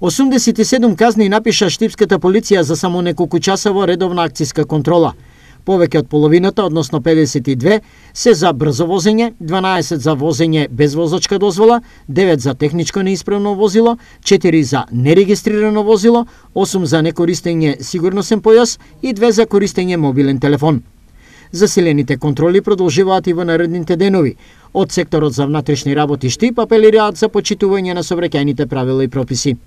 87 казни напиша штипската полиција за само неколку часово редовна акцијска контрола. Повеќе од половината, односно 52, се за брзо возење, 12 за возење без возачка дозвола, 9 за техничко неисправно возило, 4 за нерегистрирано возило, 8 за некористење сигурносен појас и 2 за користење мобилен телефон. Засилените контроли продолжуваат и во наредните денови. Од секторот за внатрешни работи Штип апелираат за почитување на сообраќајните правила и прописи.